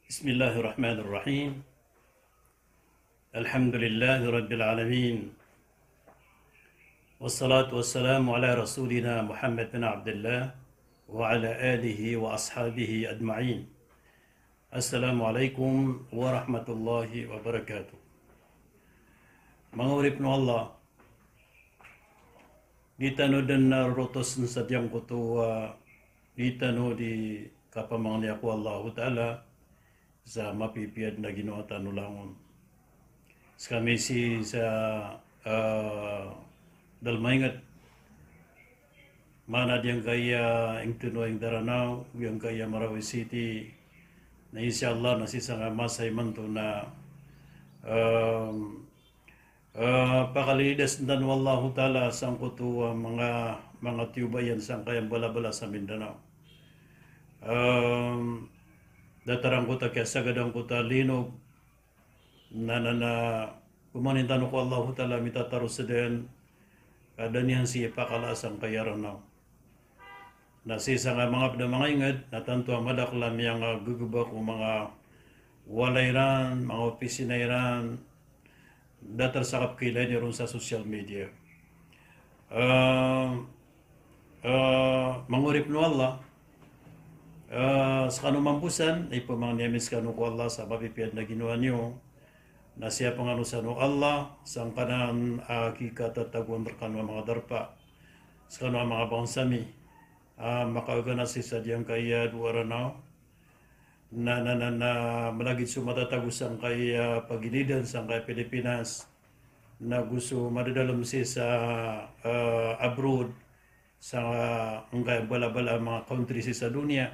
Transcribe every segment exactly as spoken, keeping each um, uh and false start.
بسم الله الرحمن الرحيم. الحمد لله رب العالمين. والصلاة والسلام على رسولنا محمد بن عبد الله وعلى آله وأصحابه أجمعين. السلام عليكم ورحمة الله وبركاته. Manga oripn o Allah, di tano dn a rorotosen sa giyangkoto a di tano di kapamangnia ko Allahu Ta'ala sa mapipiya dn a ginawa tano langon. Skami sii sa, ah, Dalmainget, mana giyangkaya ingd tano a ingd Daranaw, giyangkaya Marawi City, na insha Allah na sii sangkai a masa imanto na, ehm, Ah, pakalilidasen tano o Allahu Ta'ala sangkoto a manga, manga tiyoba iyan sangkaya mbalabala sa Mindanao. Ehm, datar angkoto a kiyasagad angkoto a linog, na, na, na, pamangnin tano ko Allahu Ta'ala a mitataros dn, ka da niyan sii pakala sangkaya Ranaw. Na sii sangkaya manga pd a manga ingd, na tanto a madakl a miyanggegebak o manga walay iran, manga opisina iran, datar sa kapkilain iron sa social media. Ah, ah, manga oripn o Allah, ah, skano mambo san, ipamangni ami skano ko Allah sa mapipiya dn a ginawa niyo, na siyapn kano san o Allah sangkanan a kikatatagoan rkano a manga darpa, skano a manga bangsa mi, a makaoga na sii sa giyangkaya dowa Ranaw, na, na, na, na, malagid so matatago sangkaya pagilidan sangkaya Pilipinas, na go so madadalm sii sa, ah, abroad, sangkaya mbalabala a manga country sii sa doniya.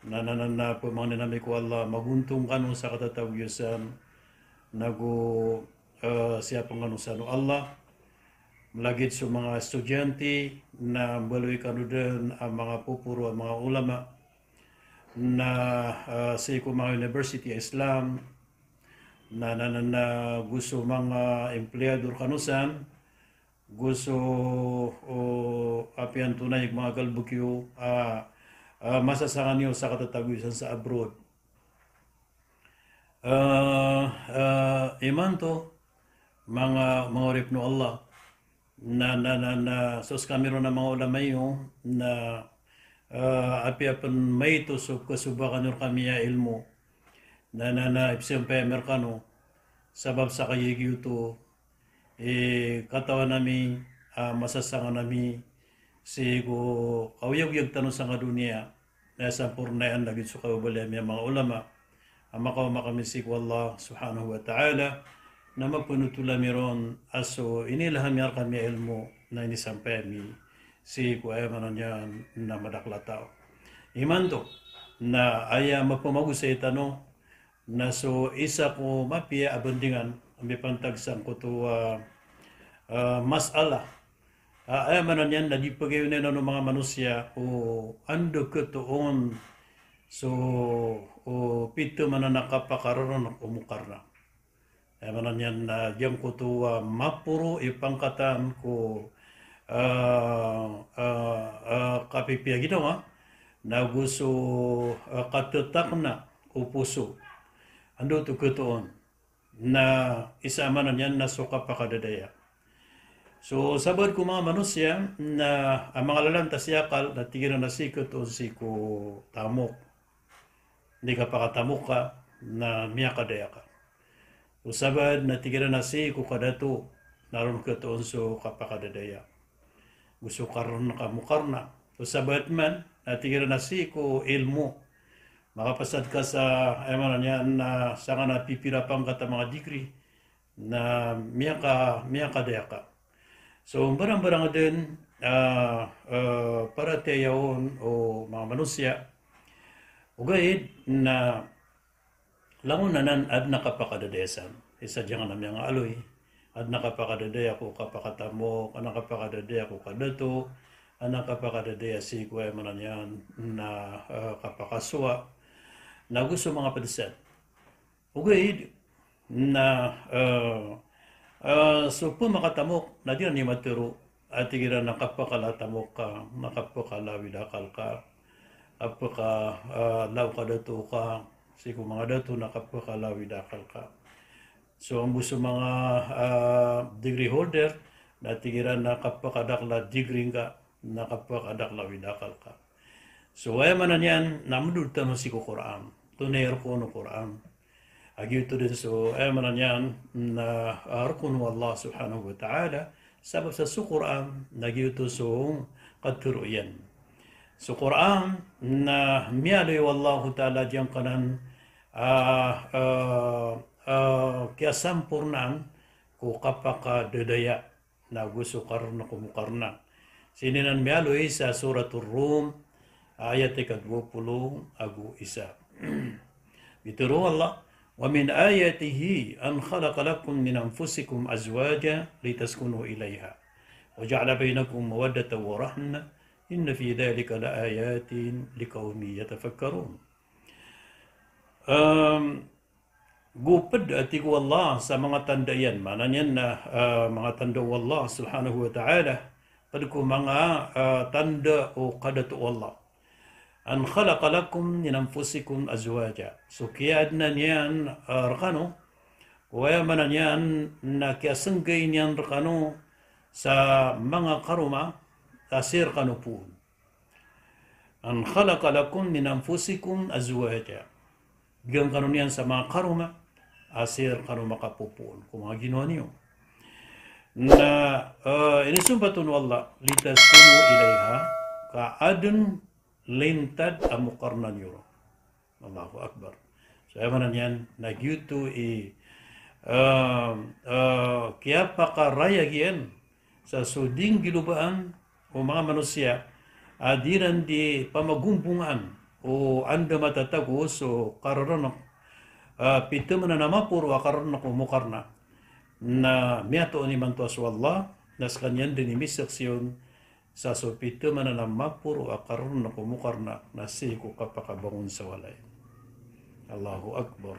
Na, na, na, na, pamangnin ami ko Allah, magontong kano sa katatago iyo san, na go, ah, siyapn kano san o Allah. Malagid so manga estudyante, na mbaloy kano dn a manga poporo a manga ulama, na, ah, sii ko manga university a Islam, na, na, na, na, go so manga empleyado rkano san, go so, o, apiya antonaa i manga galbk iyo, ah, ah, masasanga niyo sa katatago iyo san sa abroad. Ah, ah, imanto, manga, manga oripn o Allah, na, na, na, na, so skami ron a manga ulama iyo, na, ah, apiya pn maito so kasobakan iyo rkami a ilmo, na, na, na, ipsampay ami rkano, sabap sa kagiya giyoto i katawan ami, ah, masasangan ami sii ko kaoyagoyag tano sangkai a doniya, na sampornaan lagid so kababaloy ami a manga ulama a makaoma kami sii ko Allah Subhanahu wa Ta'ala, na mapnotol ami ron a so iniilham ami rkami a ilmo na inisampay ami sii ko, aya maana niyan na madakl a taw. Imanto, na aya mapamagosay tano, na so isa ko mapiya a bandingan a mipantag sangkoto a, ah, masalah. Ah, aya maana niyan na di pagayonayonan o manga manosiya o anda katoon so, o pitharo man a kapakararn o Mukarna. Aya maana niyan na giyangkoto a maporo i pangkatan ko, ah, ah, ah, kapipiya ginawa, na go so, ah, katatakna o poso. Anda oto katoon? Na isa a maana niyan na so kapakadadaya. So sabaad ko manga manosiya na a manga lalantas i akal na tig iran a sii katoon sii ko tamok. Di kapakatamok ka na miyakadaya ka. O sabaad na tig iran a sii ko kadato na ron katoon so kapakadadaya. Go so karn ka Mukarna. O sabaad man na tig iran a sii ko ilmo. Makapasad ka sa, aya maana niyan na sangkanan a pipira pangkat a manga degree na miyaka, miyakadaya ka. So, mbarangbarang dn, ah, ah, paratiyaya on o manga manosiya. Ogaid na langon anan adn a kapakadadaya san. Isa giyangkanan a miyangaaloy. Adn a kapakadadaya ko kapakatamok, adn a kapakadadaya ko kadato, adn a kapakadadaya sii ko, aya maana niyan na, ah, kapakasowa. Na go so manga pd san. Ogaid na, eh, eh, so pmakatamok na di iran i matharo a tig iran a kapakala a tamok ka, na kapakala a awid a akal ka, a pka, eh, law kadato ka, Sii ko manga dato na kapakalawi da akal ka. So anggo so manga, ah, degree holder, na tig iran na kapakadakl a degree ngka, na kapakadakl a lawi da akal ka. So aya maana niyan na mdod tano sii ko Qur'an. Antonaa i rokon o Qur'an? A giyoto dn so, aya maana niyan na, ah, rokon o Allah subhanahu wa ta'ala, sabap sa so Qur'an na giyoto so katharo iyan. So Qur'an na miyaaloy o Allahu ta'ala giyangkanan, ah, ah, ah, kiyasampornaan ko kapakadadaya na go so karna ko mokarna. Sii niyan miyaaloy sa Suratul Rum, ayat ika dowa polo ago isa. Pitharo o Allah, "Wa min ayatihi an khalaqa lakum min anfusikum azwaja litaskunu ilaiha. Wa ja'ala bainakum mawaddatan wa rahmah. Inna fi dhalika la ayatin liqaumin yatafakkarun." Em, Go pd a tig o Allah sa manga tanda iyan, maana niyan na, ah, manga tanda o Allah subhanahu wa ta'ala, pd ko manga, ah, tanda o kadato o Allah. An khalaqa lakum min anfusikum azwaja. So kiyaadna niyan, ah, rkano, ko aya maana niyan na kiyasnggay niyan rkano sa manga karoma a sii rkano poon. An khalaqa lakum min anfusikum azwaja. Bgan kano niyan sa manga karoma a sii rkano makapopoon ko manga ginawa niyo. Na, eh, inisompat on o Allah, litaskunu ilaiha, ka adn lintad a mokarna niyo ron. Allahu Akbar. So aya maana niyan na giyoto i, eh, eh, kiyapakarayag iyan sa so di nggilobaan o manga manosiya a di iran di pamagombongaan o anda matatago so kararnk, ah, pithamanan a maporo a kararnk o mokarna. Na miyatoon imanto a so Allah na skaniyan dn i misaksi on sa so pithamanan a maporo a kararnk o mokarna na sii ko kapakabangon sa walay. Allahu Akbar.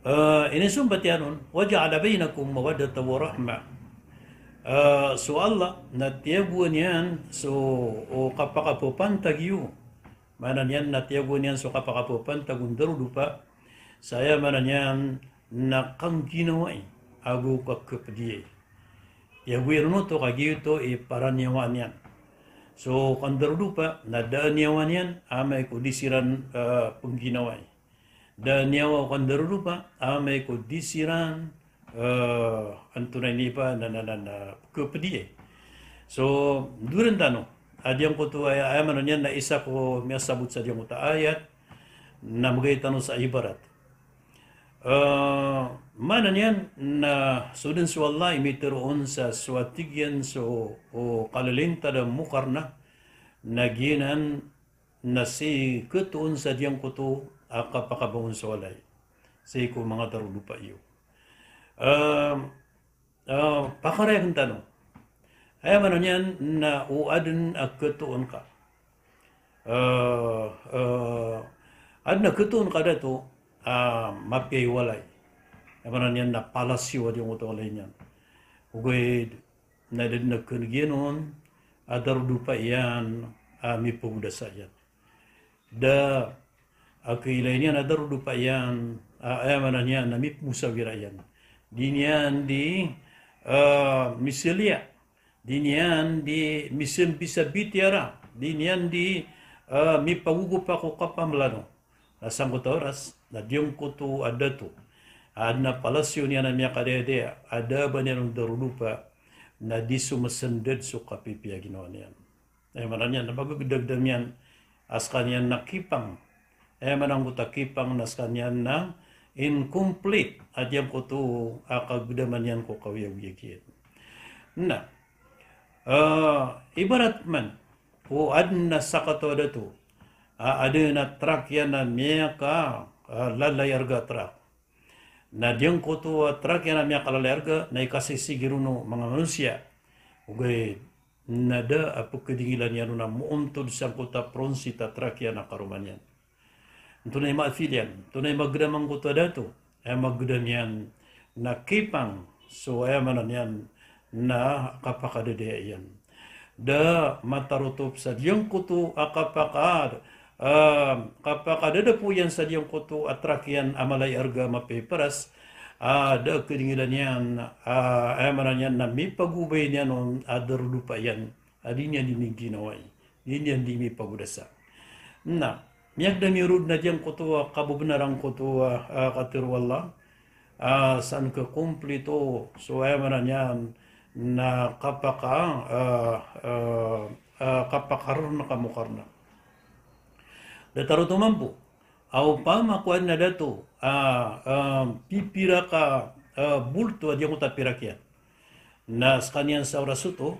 Eh, inisompat iyan on, "Wa ja'ala bainakum mawaddatan wa rahmah." Eh, so Allah na tiyagoan iyan so, o kapakapapantag iyo. Maana niyan na tiyagoan iyan so kapakapapantag o ndarodopa. Sa aya maana niyan na kangginawai ago kakapdiyai. Tiyago iran oto ka giyoto i paraniyawa niyan. So kandarodopa na da a niyawa niyan amay ko di siran, eh, pngginawai. Da a niyawa o kandarodopa amay ko di siran, eh, antonaa ini ba na, na, na, na kapdiyai. So doren tano a giyangkoto aya, aya maana niyan na isa ko miyasabot sa giyangkoto a ayat na mbgay tano sa ibarat. Eh, maana niyan na so dn so Allah i mitharo on sa so a tig iyan so, o kalilintad a mokarna na giyanan na sii khatoon sa giyangkoto a kapakabangon sa walay sii ko manga darodopa iyo. Eh, Ah, pakarayagn tano. Aya maana niyan na o adn a khatoon ka. Ah, ah, adn a khatoon ka dato, ah, mapiya i walay. Aya maana niyan na palasyo a giyangkoto a walay niyan. Ogaid na da dn a khan'g iyan on a darodopa iyan a mipagodasa iyan. Da a kailay niyan a darodopa iyan, a, aya maana niyan na mipmosawira iyan. Di niyan di, ah, misiliya. Di niyan di misambisa bitiyara. Di niyan di, ah, mipagogopa ko kapamlano. Na sangkoto a oras, na giyangkoto a dato a adn a palasyo niyan a miyakadayadaya, a da a ba niyan on darodopa, na di so masndad so kapipiya a ginawa niyan. Aya maana niyan na pagagdagdam iyan a skaniyan na kipang. Aya maana angkoto a kipang na skaniyan na incomplete a giyangkoto a kagdaman iyan ko kaoyagoyag iyan. Na, ah, ibarat man o adn a sakataw a dato a adn a trak iyan a miyaka, ah, lalai arga a trak. Na giyangkoto a trak iyan a miyakalalai arga na ikasisigi ron o manga manosiya. Ogaid na da a pkadingilan iyan on a moontod sangkoto a pronsit a trak iyan a karoma niyan. Antonaa i maapil iyan, antonaa i magdam angkoto a dato? Aya magdam iyan na kipang so aya maana niyan na kapakadadaya iyan. Da matarotop sa giyangkoto a kapaka, ah, kapakadadapo iyan sa giyangkoto a trak iyan a mala i arga, mapiya i paras, ah, da a kadingilan iyan, ah, aya maana niyan na mipagobay niyan on a darodopa iyan a di niyan di miginawai, di niyan di mipagodasa. Na miyagdam iyo roo na giyangkoto a kabebnar angkoto a, ah, katharo o Allah, ah, san ka komplito so, aya maana niyan na kapaka, ah, ah, ah, kapakarnk a mokarna. Datar oto mambo a opama ko adn a dato a, ah, pipira ka, ah, bolto a giyangkoto a pirak iyan, na skaniyan sa oras oto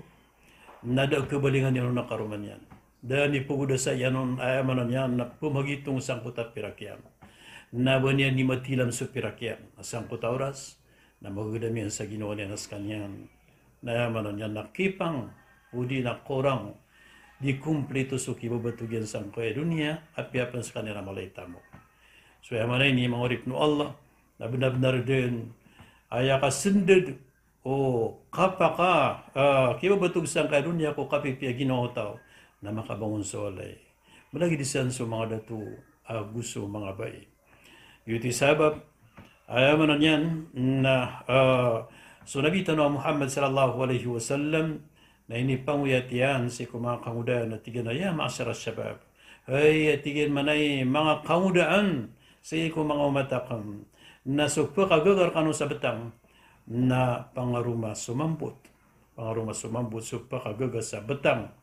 na da a kabalingan iyan on a karoma niyan. Da a nipagodasa iyan on, aya maana niyan na pemagitong sangkoto a pirak iyan. Na ba niyan di matilam so pirak iyan sangkoto a oras, na magagdam iyan sa ginawa niyan a skaniyan na, aya maana niyan na kipang odi na korang, di komplito so kibabatog iyan sangkaya doniya, apiya pen skaniyan a mala i tamok. So aya maana ini, manga oripn o Allah, na bnar-bnar dn a aya kasndad o kapaka, ah, kibabatog sangkaya doniya ko kapipiya ginawa o taw, na makabangon so walay. Malagid san so manga dato ago so manga bai. Giyoto i sabap, aya maana niyan na, ah, so Nabi tano a Muhammad sallallahu alaihi wasallam na inipangoyat iyan sii ko manga kangodaan a tig iyan a, "Ya ma'shara shabab." Hay, a tig iyan, maana i manga kangodaan sii ko manga omat akn, na so pkagaga rkano sa btang na pangaroma so mambot. Pangaroma so mambot so pkagaga sa btang.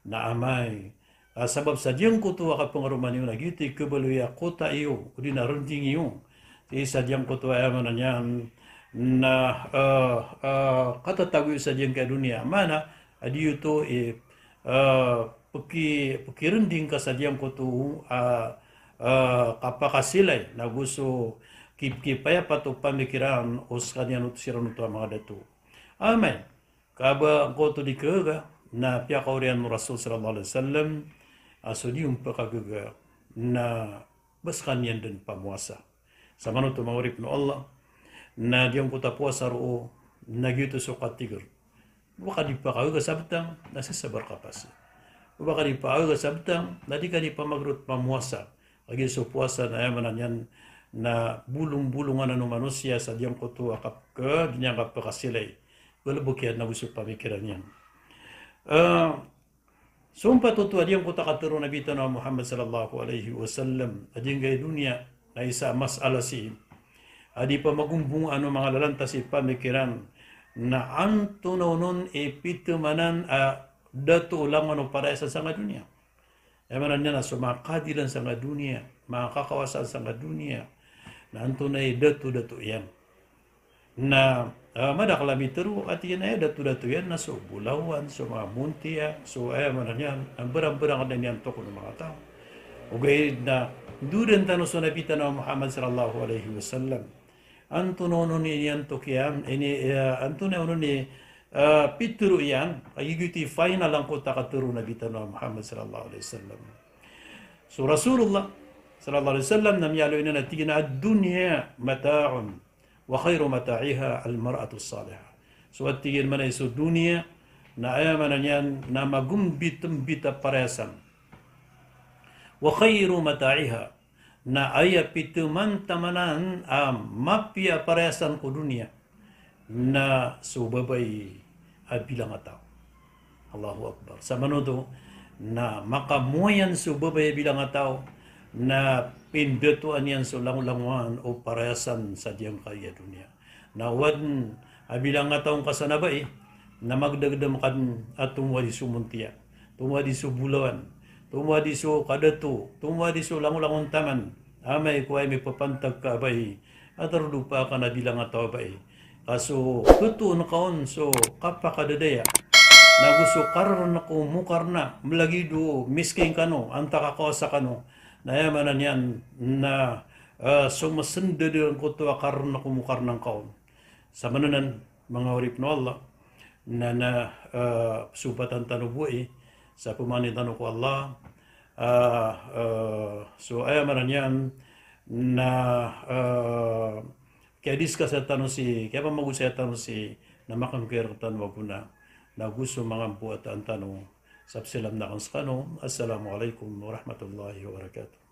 Na amay, ah, sabap sa giyangkoto a kapangaroma niyo na giyoto i kabaloy a kota iyo, odi na rnding iyo. Sii sa giyangkoto a, aya maana niyan na, ah, ah, katatago iyo sa giyangkaya doniya. Maana a di iyo oto i, ah, pki-, pkirnding ka sa giyangkoto a, ah, kapakasilay, na go so kip-, kipayapat o pamikiran o skaniyan oto, siran oto a manga dato. Amay ka ba angkoto di kagaga, na piyakaoriyan o Rasul sallallahu alaihi wasallam a so di on pkagaga na ba skaniyan dn pamowasa. Samanoto, manga oripn o Allah, na giyangkoto a powasa roo na giyoto so katharo. Ba ka di pakagaga sa btang, na sasabar ka pasi. Ba ka di pakagaga sa btang, na di ka di pamagrot pamowasa. Lagid so powasa na, aya maana niyan na bolong-bolongan o manosiya sa giyangkoto a kap-, ka, di niyan kapakasilay. Galbk iyan na go so pamikiran iyan. Ah, so mpat oto a giyangkoto a katharo o Nabi tano a Muhammad sallallahu alaihi wasallam a giyangkai doniya na isa a masala sii a di pamagombongan o manga lalantas i pamikiran, na antonaa onon i pithamanan a dato o langon o parayasan sangkai doniya. Aya maana niyan na so manga kadilan sangkai doniya, manga kakawasaan sangkai doniya, na antonaa i dato-dato iyan. Na, ah, madakl a mitharo a tig iyan a aya dato-dato iyan na so bolawan, so manga montiya, so, aya maana niyan, a mbarang-mbarang a da niyan tokon o manga taw. Ogaid na dodan tano so Nabi tano a Muhammad sallallahu alaihi wasallam. Antonaa onon i niyan tokiyan, ini, eh, antonaa onon i, eh, pitharo iyan, kagiya giyoto i final angkoto a katharo o Nabi tano a Muhammad sallallahu alaihi wasallam. So Rasulullah sallallahu alaihi wasallam na miyaaloy niyan a tig iyan a, "Ad-dunya mata'un, wa khairu mata'iha al-mar'atu as-salihah." So a tig iyan, maana i so doniya na, aya maana niyan na magombit-mbit a parayasan. Wa khairu mata'iha, na aya pithamanan a mapiya a parayasan ko doniya na so babay a bilangataw. Allahu Akbar. Samanoto na makamoyan so babay a bilangataw, na pindatoan iyan so langolangowan o parayasan sa giyangkaya doniya. Na o adn a bilangataw ngka san a bai, na magdagdam ka dn a tomowadi so montiya, tomowadi so bolawan, tomowadi so kadato, tomowadi so langolangon taman. Amay ko aya mipapantag ka a bai a darodopa ka na bilangataw a bai, ka so katoon ka on so kapakadadaya, na go so kararnk o mokarna, mlagid o miskin kano, antaa kakawasa kano, na aya maana niyan na, eh, so masndad angkoto a kararnk o mokarna ngka on. Samanonan, manga oripn o Allah, na, na, eh, sompatan tano bo i sa pamangnin tano ko Allah, eh, eh, so aya maana niyan na, eh, kiyadiscuss tano sii, kiyapamagosaya tano sii, na makangkir tano a gona, na go so manga mpoataan tano Sa pzalam akn skano. Assalamu alaikum warahmatullahi wabarakatuh.